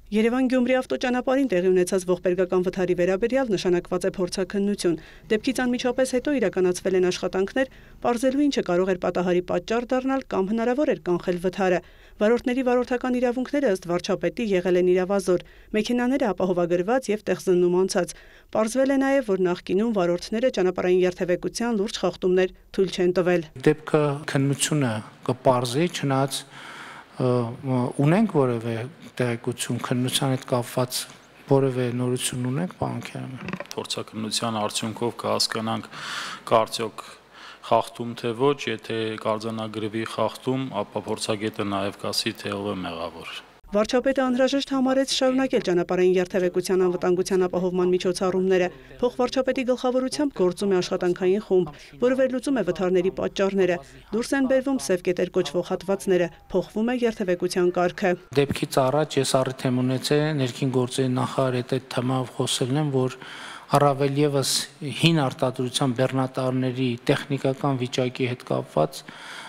Երևան-Գյումրի ավտոճանապարհին տեղի ունեցած ողբերգական վթարի վերաբերյալ նշանակված է փորձաքննություն։ Դեպքից անմիջապես հետո իրականացվել են աշխատանքներ, պարզելու ինչը կարող էր պատահարի պատճառ դառնալ կամ հնարավոր էր կանխել վթարը։ Վարորդների վարորդական իրավունքները ըստ վարչապետի եղել են իրավազոր, մեքենաները ապահովագրված եւ տեղզննում անցած։ Պարզվել է նաեւ, որ նախկինում վարորդները ճանապարհային երթևեկության լուրջ խախտումներ թույլ չեն տվել։ Դեպքը քննությունը կպարզի, չնայած ունենք որևէ տեղեկություն քննության հետ կապված որևէ նորություն ունենք, պարոն Քերամյան։ Փորձաքննության արդյունքով կհասկանանք կարծիք խախտում թե ոչ, եթե կարձանագրվի խախտում, ապա փորձագետը նաև կասի, թե ով է մեղավոր։ Վարչապետը անհրաժեշտ համարեց շարունակել ճանապարհային երթևեկության անվտանգության ապահովման միջոցառումները։ Փոխվարչապետի գլխավորությամբ գործում է աշխատանքային խումբ, որը վերլուծում է վթարների պատճառները։ Դուրս են բերվում սև կետեր կոչվող հատվածները, փոխվում է երթևեկության կարգը։ Դեպքից առաջ ես առիթ եմ ունեցել ներքին գործերի նախարարի հետ այդ թեմայով խոսելն եմ, որ առավել եւս հին արտադրության բեռնատարների տեխնիկական վիճակի հետ կապված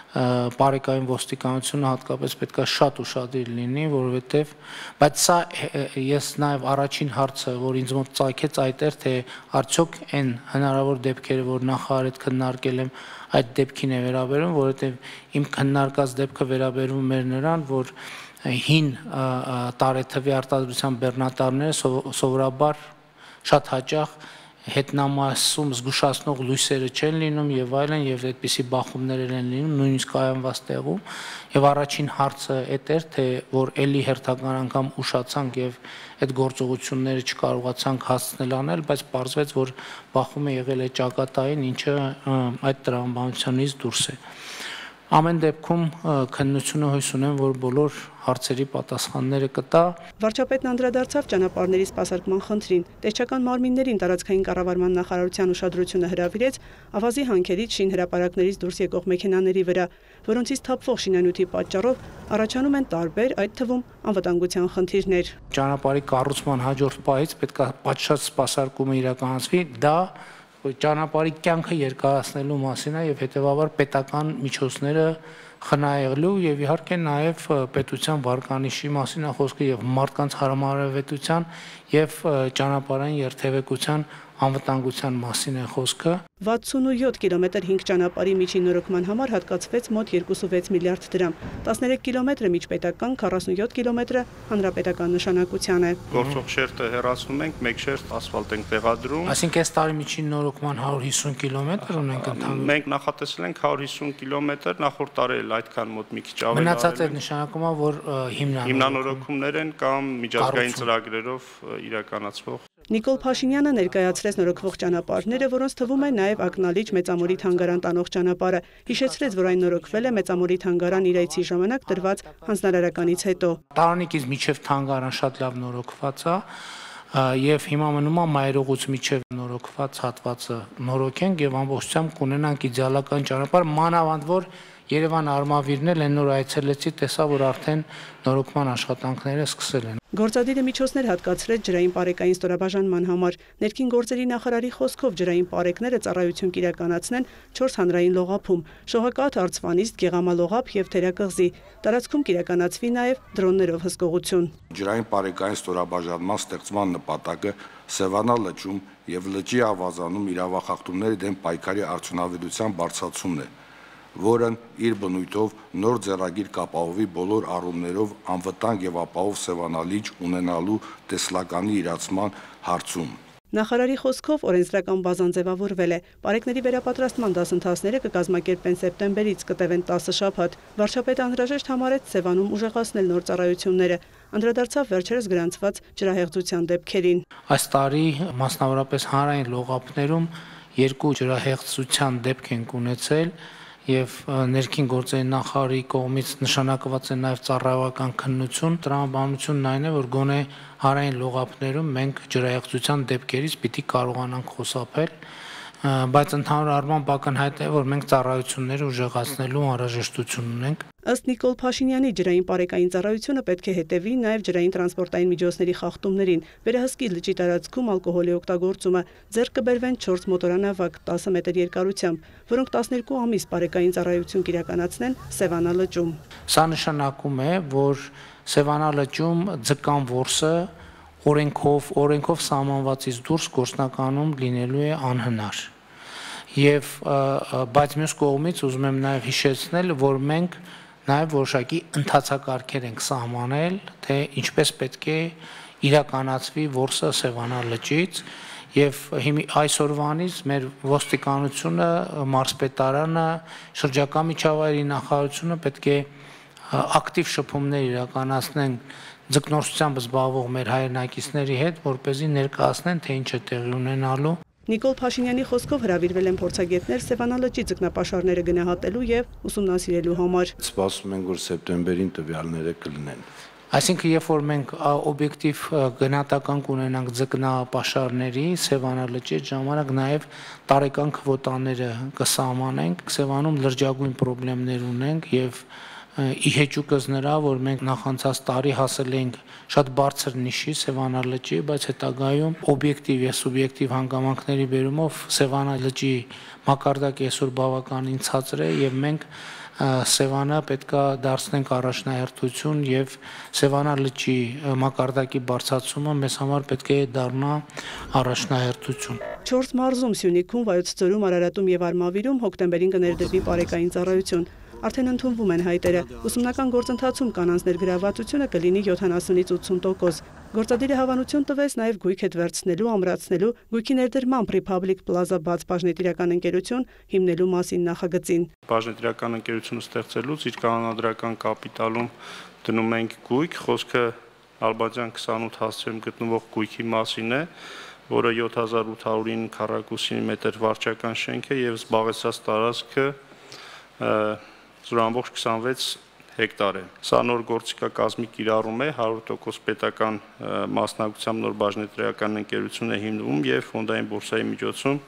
բարեկային ոստիկանությունը հատկապես պետք է շատ ուշադիր լինի, որովհետև բայց սա ես նաև առաջին հարցը, որ ինձ մոտ ծագեց այդ էր, թե արդյոք այն հնարավոր դեպքերը, որ նախարարը քննարկել եմ, այդ դեպքին է վերաբերում, որովհետև իմ քննարկած դեպքը վերաբերում էր նրան, որ հին տարեթվի արտադրության բեռնատարները սովորաբար շատ հաճախ հետնամասում զգուշացնող լույսերը չեն լինում եւ այլն եւ այդպիսի բախումներ են լինում նույնիսկ կայանված տեղում եւ առաջին հարցը այդ էր թե որ էլի հերթական անգամ ուշացանք եւ այդ գործողությունները չկարողացանք հասցնել անել բայց պարզվեց որ բախումը եղել է ճակատային ինչը այդ տրամաբանությունից դուրս է Ամեն դեպքում քննությունը հույս ունեմ, որ բոլոր հարցերի պատասխանները կտա։ Վարչապետն անդրադարձավ ճանապարհների սպասարկման խնդրին։ Տեսչական մարմիններին տարածքային կառավարման նախարարության ուշադրությունը հրավիրեց ավազի հանքերից շինհրապարակներից դուրս եկող մեքենաների վրա, որոնցից թափվող շինանյութի պատճառով առաջանում են տարբեր, այդ թվում անվտանգության խնդիրներ։ Ճանապարհի կառուցման հաջորդ պահից պետք է պատշաճ սպասարկումը իրականացվի, դա ճանապարհի կյանքը երկարացնելու մասին է եւ հետեւաբար պետական միջոցները խնայելու եւ իհարկե նաեւ պետության վարկանիշի մասին է խոսքը եւ մարդկանց հարամարավետության եւ ճանապարհային երթևեկության անվտանգության մասին է խոսքը 67 կիլոմետր 5 ճանապարհի միջին նորոգման համար հատկացվեց մոտ 2.6 միլիարդ դրամ 13 կիլոմետրը միջպետական 47 կիլոմետրը հանրապետական նշանակության է Գործող շերտը հեռացնում ենք մեկ շերտ ասֆալտ ենք տեղադրում Այսինքն այս տարի միջին նորոգման 150 կիլոմետր ունենք ընդհանուր Մենք նախատեսել ենք 150 կիլոմետր նախորդ տարի էլ այդքան մոտ մի քիչ ավելի Մնացած այդ նշանակում է որ հիմնանորոգումներ են կամ միջազգային ծրագրերով իրականացվող Նիկոլ Փաշինյանը ներկայացրեց նորոգվող ճանապարհները, որոնց թվում է նաև Ակնալիջ Մեծամորի թանգարան տանող ճանապարհը։ Հիշեցրեց, որ այն նորոգվել է Մեծամորի թանգարան իր այցի ժամանակ տրված հանձնարարականից հետո։ Տարանիկից միջև թանգարան շատ լավ նորոգված է եւ հիմա մնում է մայրողուց միջև նորոգված հատվածը նորոգենք եւ ամբողջությամբ կունենանք իդեալական ճանապարհ մանավանդ որ Երևան արմավիրն էլ նոր այցելեցի տեսա որ արդեն նորոգման աշխատանքները սկսել են Գործադիրը միջոցներ հատկացրեց ջրային պարեկային ստորաբաժանման համար ներքին գործերի նախարարի խոսքով ջրային պարեկները ծառայություն կիրականացնեն 4 հանրային լողափում Շողակաթ, Արցվանիստ, Գեղամալողափ եւ Թերակղզի տարածքում կիրականացվի նաեւ դրոններով հսկողություն Ջրային պարեկային ստորաբաժանման ստեղծման նպատակը Սևանա լճում եւ լճի ավազանում իրավախախտումների դեմ պայքարի արդյունավետության բարձրացումն է որն իր բնույթով նոր ձեռագիր կապահովի բոլոր առումներով անվտանգ եւ ապահով Սևանալիճ ունենալու տեսլականի իրացման հարցում Նախարարի խոսքով օրենսդրական բազան ձևավորվել է։ Պարեկների վերապատրաստման դասընթացները կկազմակերպեն սեպտեմբերից կտևեն 10 շաբաթ։ Վարչապետը անհրաժեշտ համարեց Սևանում ուժեղացնել նոր ծառայությունները։ Անդրադարձավ վերջերս գրանցված ջրահեղձության դեպքերին։ Այս տարի մասնավորապես հանրային լողափներում 2 ջրահեղձության դեպք են ունեցել եւ ներքին գործերի նախարարի կողմից նշանակված է նաեւ ծառայական քննություն տրամաբանությունն այն է որ գոնե հարային լողափներում մենք ջրահեղձության դեպքերից պիտի կարողանանք խուսափել բայց ընդհանուր առմամբ ակնհայտ է որ մենք ծառայությունները ուժեղացնելու անհրաժեշտություն ունենք Ըստ Նիկոլ Փաշինյանի ջրային պարեկային ծառայությունը պետք է հետևի նաև ջրային տրանսպորտային միջոցների խախտումներին, վերահսկի լճի տարածքում ալկոհոլի օգտագործումը, ձեռք կբերվեն 4 մոտորանավակ 10 մետր երկարությամբ, որոնք 12 ամիս պարեկային ծառայություն կիրականացնեն Սևանա լճում։ Սա նշանակում է, որ Սևանա լճում ձկան որսը օրենքով սահմանվածից դուրս գործնականում լինելու է անհնար։ Եվ բայց մյուս կողմից ուզում եմ նաև հիշեցնել, որ մենք նաև որոշակի ընթացակարգեր ենք սահմանել, թե ինչպես պետք է իրականացվի որսը Սևանա լճից, եւ այսօրվանից մեր ոստիկանությունը, մարզպետարանը, շրջակա միջավայրի նախարարությունը պետք է ակտիվ շփումներ իրականացնեն ձկնորսությամբ զբաղվող մեր հայրենակիցների հետ, որպեսզի ներկայացնեն, թե ինչ է տեղի ունենալու։ Նիկոլ Փաշինյանի խոսքով հրավիրվել են փորձագետներ Սևանա լճի ձկնապաշարները գնահատելու եւ ուսումնասիրելու համար։ Սպասում ենք, որ սեպտեմբերին տվյալները կլինեն։ Այսինքն, երբ որ մենք օբյեկտիվ գնահատական կունենանք ձկնապաշարների Սևանա լճի ժամանակ նաև տարեկան քվոտաները կսահմանենք, Սևանում լրջագույն խնդիրներ ունենք եւ իհեճուկս նրա, որ մենք նախանցած տարի հասել ենք շատ բարձր նիշի Սևանա լճի, բայց հետագայում օբյեկտիվ եւ սուբյեկտիվ հանգամանքների բերումով Սևանա լճի մակարդակը այսօր բավականին ցածր է եւ մենք Սևանը պետքա դարձնենք առաջնահերթություն եւ Սևանա լճի մակարդակի բարձրացումը մեզ համար պետք է դառնա առաջնահերթություն։ 4 մարզում Սյունիքում, Վայոց ձորում, Արարատում եւ Արմավիրում հոկտեմբերին կներդրվի բարեկային ծառայություն։ Արդեն ընդունվում են հայտերը։ Ուսումնական գործընթացում կանանց ներգրավվածությունը կլինի 70-ից 80%։ Գործադիրը հավանություն տվեց նաև գույք հետ վերցնելու, ամրացնելու, գույքի ներդրմամբ Republic Plaza բաց բաժնետիրական ընկերություն հիմնելու մասին նախագծին։ Բաժնետիրական ընկերությունը ստեղծելուց իր կանոնադրական կապիտալում դնում ենք գույք, խոսքը Ալբաջան 28 հասցեում գտնվող գույքի մասին է, որը 7809 քառակուսի մետր վարչական շենք է եւ զբաղեցած տարածքը 0.26 հեկտար է։ Սա նոր գործիքակազմի կիրառում է, 100% պետական մասնակցությամբ նոր բաժնետիրական ընկերություն է հիմնվում եւ ֆոնդային բորսայի միջոցում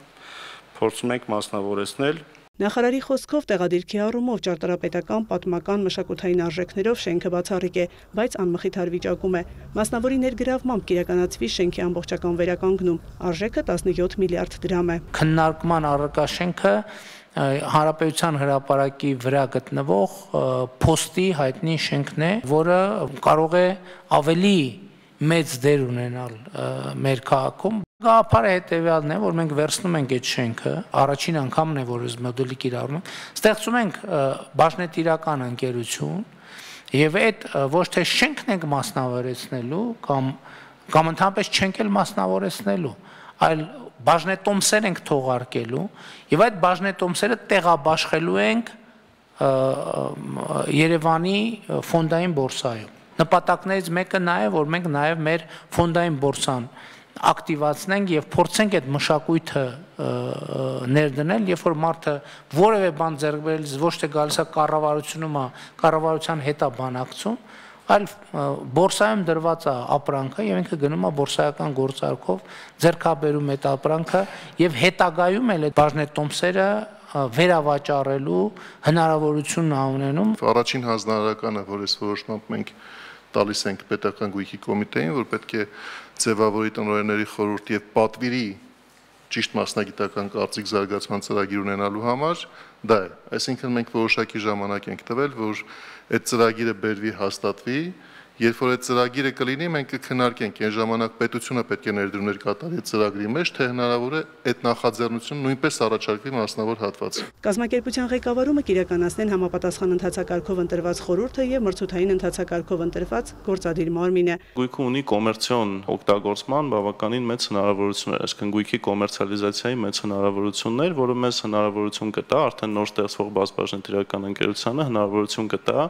փորձում ենք մասնավորեցնել։ Նախարարի խոսքով տեղադիրքի առումով ճարտարապետական, պատմական, մշակութային արժեքներով շենքը բացառիկ է, բայց անմխիթար վիճակում է։ Մասնավորի ներգրավմամբ կիրականացվի շենքի ամբողջական վերականգնում։ Արժեքը 17 միլիարդ դրամ է։ Քննարկման առարկա շենքը Հանրապետության հրապարակի վրա գտնվող փոստի հայտնի շենքն է, որը կարող է ավելի մեծ դեր ունենալ մեր քաղաքում։ Գաղափարը հետևյալն է, որ մենք վերցնում ենք այդ շենքը, առաջին անգամն է, որ այս մոդելի կիրառում ենք, ստեղծում ենք բաժնետիրական ընկերություն եւ այդ ոչ թե շենքն ենք մասնավորեցնելու կամ ընդհանրապես չենք էլ մասնավորեցնելու, այլ բաժնետոմսեր ենք թողարկելու եւ այդ բաժնետոմսերը տեղաբաշխելու ենք Երևանի ֆոնդային բորսայում։ Նպատակներից մեկը նա է, որ մենք նաև մեր ֆոնդային բորսան ակտիվացնենք եւ փորձենք այդ մշակույթը ներդնել, երբ որ մարդը որևէ բան ձեռք բերելիս ոչ թե գալիս է կառավարության հետ է բանակցում, այլ բորսայում դրված է ապրանքը եւ ինքը գնում է բորսայական գործարքով ձեռքաբերում այդ ապրանքը եւ հետագայում էլ այդ բաժնետոմսերը վերավաճառելու հնարավորություն ունենում։ Առաջին հանձնարարականը, որ այս որոշմամբ մենք տալիս ենք պետական գույքի կոմիտեին, որ պետք է ձևավորի տնօրենների խորհուրդ եւ պատվիրի ճիշտ մասնագիտական կարծիք զարգացման ծրագիր ունենալու համար, դա է։ Այսինքն մենք որոշակի ժամանակ ենք տվել, որ այդ ծրագիրը բերվի, հաստատվի, երբ որ այդ ծրագիրը կլինի, մենք կքննարկենք, այն ժամանակ պետությունը պետք է ներդրումներ կատարի այդ ծրագրի մեջ, թե հնարավոր է այդ նախաձեռնությունը նույնպես առաջարկվի մասնավոր հատվածի։ Կազմակերպության ղեկավարումը կիրականացնեն համապատասխան ընթացակարգով ընտրված խորհուրդը եւ մրցութային ընթացակարգով ընտրված գործադիր մարմինը։ Գույքը ունի կոմերցիոն օգտագործման բավականին մեծ հնարավորություններ, այսինքն գույքի կոմերցիալիզացիայի մեծ հնարավորություններ, որը մեզ հնարավորություն կտա արդեն նոր ստեղծվող բաժնետիրական ընկերությանը հնարավորություն կտա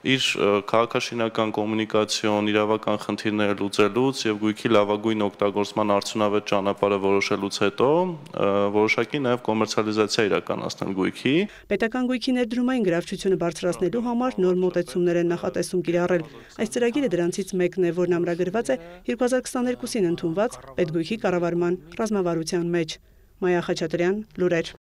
իր քաղաքաշինական կոմունիկացիոն, իրավական խնդիրները լուծելուց եւ գույքի լավագույն օգտագործման արդյունավետ ճանապարհը որոշելուց հետո որոշակի նաեւ կոմերցիալիզացիա իրականացնել գույքի։ Պետական գույքի ներդրումային գրավչությունը բարձրացնելու համար նոր մոտեցումներ են նախատեսում կիրառել։ Այս ծրագիրը դրանցից մեկն է, որն ամրագրված է 2022-ին ընդունված պետգույքի կառավարման ռազմավարության մեջ։ Մայա Խաչատրյան, լուրեր։